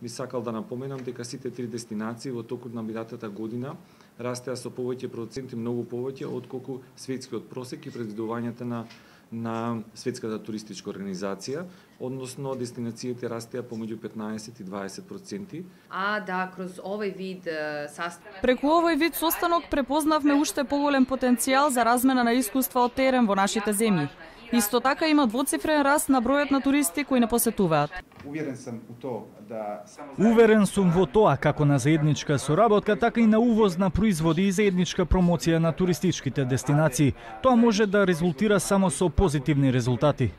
би сакал да напоменам дека сите три дестинации во токот на минатата година растеа со повеќе проценти, многу повеќе отколку светскиот просек и предвидувањата на Светската туристичка организација, односно дестинациите растеа помеѓу 15 и 20%. Кроз овој вид састанок. Преку овој вид состанок препознавме уште поголем потенцијал за размена на искуства од терен во нашите земји. Исто така има двоцифрен раст на бројот на туристи кои не посетуваат. Уверен сум во тоа како на заедничка соработка, така и на увоз на производи и заедничка промоција на туристичките дестинации. Тоа може да резултира само со позитивни резултати.